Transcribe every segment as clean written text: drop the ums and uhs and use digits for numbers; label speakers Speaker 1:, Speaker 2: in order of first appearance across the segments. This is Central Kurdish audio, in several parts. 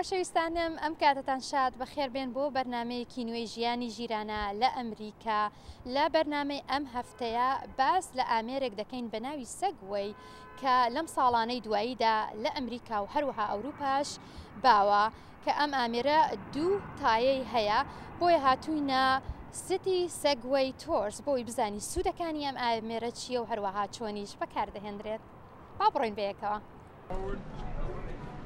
Speaker 1: خۆشەویستانم ئەم کاتەتان شاد، بەخێربێن بۆ بەرنامەیەکی نوێی ژیانی ژیرانە لە ئەمریکا. لە بەرنامەی ئەم هەفتەیە باس لە ئامێرێک دەکەین بە ناوی Segway کە لەم ساڵانەی دواییدا لە ئەمریکا و هەروەها ئەوروپاش باوە کە ئەم ئامێرە دوو تایەی هەیە بۆیە هاتووینە City Segway Tours بۆی بزانی سوودەکانی ئەم ئامێرە چییە و هەروەها چۆنیش بەکاردەهێنرێت. با بڕۆین بەیەکەوە.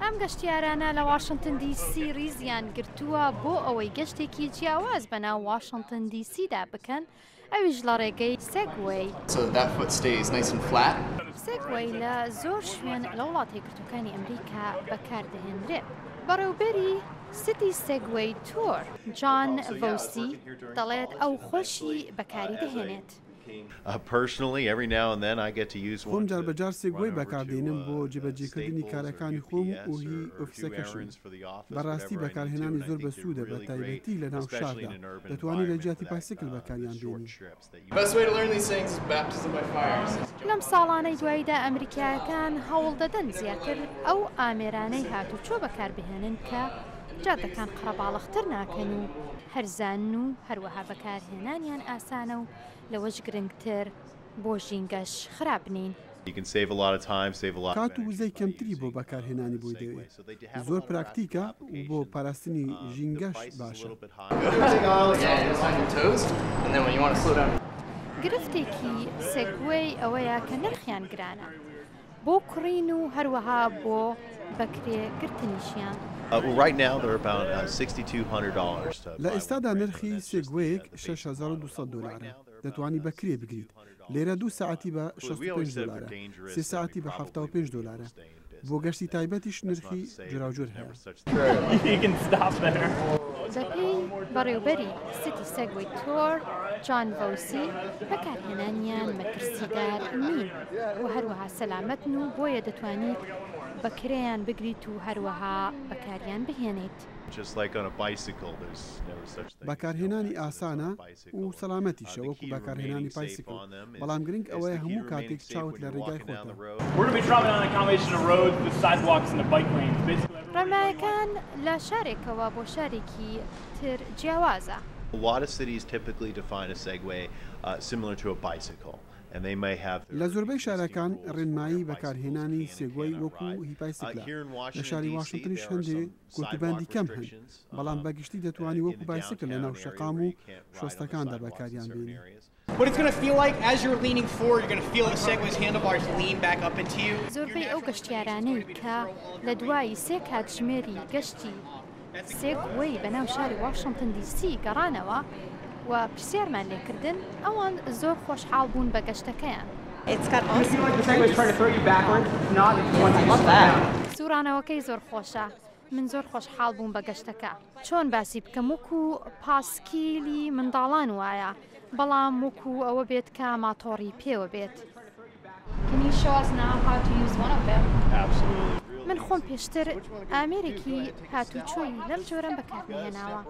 Speaker 1: ئەم گەشتیارانە لە واشنتن دی سی ریزیان گرتووە بۆ ئەوەی گەشتێکی جیاواز بەناو واشنتن دی سیدا بکەن، ئەویش لە ڕێگەی Segway. Segway لە زۆر شوێن لە وڵاتە یەکگرتووەکانی ئەمریکا بەکاردەهێنرێت. بەڕێوبەری City Segway Tour، جان ڤۆسی دەڵێت ئەو خۆشی بەکاری دەهێنێت.
Speaker 2: خۆم جاربەجار Segway بەکاردێنم بۆ جێبەجێکردنی کارەکانی خۆم و هی ئۆفیسەکەشم. بەڕاستی بەکارهێنانی زۆر بەسوودە بەتایبەتی لەناو شاردا دەتوانی لەجیاتی پایسکل بەکاریان بێنی.
Speaker 1: لەم ساڵانەی دواییدا ئەمریکایەکان هەوڵدەدەن زیاتر ئەو ئامێرانەی هاتوچۆ بەکاربهێنن کە جادەکان قەرەباڵغتر ناکەن و هەرزانن و هەروەها بەکارهێنانیان ئاسانە و لەوەش گرنگتر بۆ ژینگەش خراپ نین.
Speaker 2: کات و وزەی کەمتری بۆ بەکارهێنانی بۆی دەوێت، زۆر پراکتیکە و بۆ پاراستنی ژینگەش باشە.
Speaker 1: گرفتێکی Segway ئەوەیە کە نرخیان گرانە بۆ کڕین و هەروەها بۆ بەکرێ گرتنیشیان.
Speaker 2: لە ئێستادا نرخی Segway یەک 6200 دۆلارە، دەتوانی بە کرێ بگریت، لێرە دوو سەعاتی بە 65 دۆلارە، سێ سەعاتی بە 75 دۆلارە، بۆ گەشتی تایبەتیش نرخی جۆراوجۆر هەیە.
Speaker 1: بەپێی بەڕێوبەری City Segway Tour، جان ڤۆسی، بەکارهێنانیان مەترسیدار نین و هەروەها سەلامەتن و بۆیە دەتوانیت بە کرێیان بگریت و هەروەها بەکاریان بهێنیت.
Speaker 2: بەکارهێنانی ئاسانە و سەلامەتیشە وەکو بەکارهێنانی پایسکل، بەڵام گرنگ ئەوەیە هەموو کاتێک چاوت لە رێگای خۆتە.
Speaker 1: ڕێنمایەکان لە شارێکەوە بۆ شارێکی تر جیاوازە.
Speaker 2: لە زۆربەی شارەکان ڕێنمایی بەکارهێنانی Segway وەکو هی پایسکلە، لە شاری واشنتنیش هەندێ کۆتوبەندی کەم هەن، بەڵام بە گشتی دەتوانی وەکو بایسکل لەناو شەقام و شۆستەکاندا بەکاریان بێنی.
Speaker 1: زۆربەی ئەو گەشتیارانەی کە لە دوای سێ کاتژمێری گەشتی Segway بەناو شاری واشنتن دی سی گەڕانەوە و پرسیارمان لێکردن، ئەوان زۆر خۆشحاڵ بوون بە گەشتەکەیان. سوڕانەوەکەی زۆر خۆشە، من زۆر خۆشحاڵ بووم بە گەشتەکە. چۆن باسی بکەم وەکو پاسکیلی منداڵان وایە، بەڵام وەکو ئەوە بێت کە ماتۆڕی پێوە بێت. من خۆم پێشتر ئامێرێکی هاتوچۆی لەم جۆرەم بەکارنەهێناوە.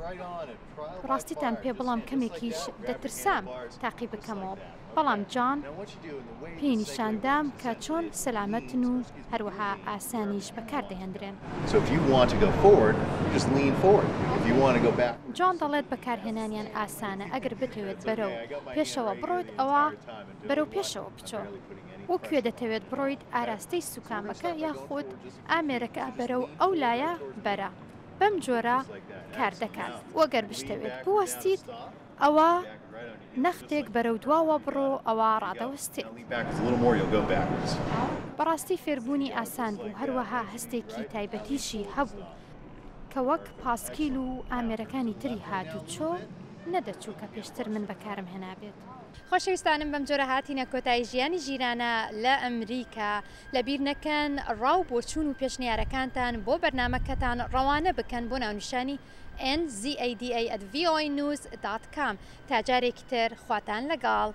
Speaker 1: ڕاستیتان پێ بڵام کەمێکیش دەترسام تاقی بکەمەوە، بەڵام جان پێی نیشاندام کە چۆن سەلامەتن و هەروەها ئاسانیش بەکاردەهێندرێن. جان دەڵێت بەکارهێنانیان ئاسانە، ئەگەر بتەوێت بەرەو پێشەوە بڕۆیت ئەوا بەرەو پێشەوە بچۆ و کوێ دەتەوێت بڕۆیت ئاراستەی سوکامەکە یاخود ئامێرەکە بەرەو ئەو لایە بەرە. بەم جۆرە کار دەکات و گەر بشتەوێت بوەستیت ئەوا نەختێک بەرەو دواوە بڕۆ ئەوا ڕادەوەستێت. بەڕاستی فێربوونی ئاسان بوو هەروەها هەستێکی تایبەتیشی هەبوو کە وەک پاسکیل و ئامێرەکانی تری هاتوچۆ نەدەچوو کە پێشتر من بەکارم هێنابێت. خۆشەویستانم بەم جۆرە هاتینە کۆتایی ژیانی ژیرانە لە ئەمریکا. لەبیر نەکەن ڕا و بۆچوون و پێشنیارەکانتان بۆ بەرنامەکەتان ڕەوانە بکەن بۆ ناونیشانی nzada@voanews.com. تا جارێکی تر خواتان لەگەڵ.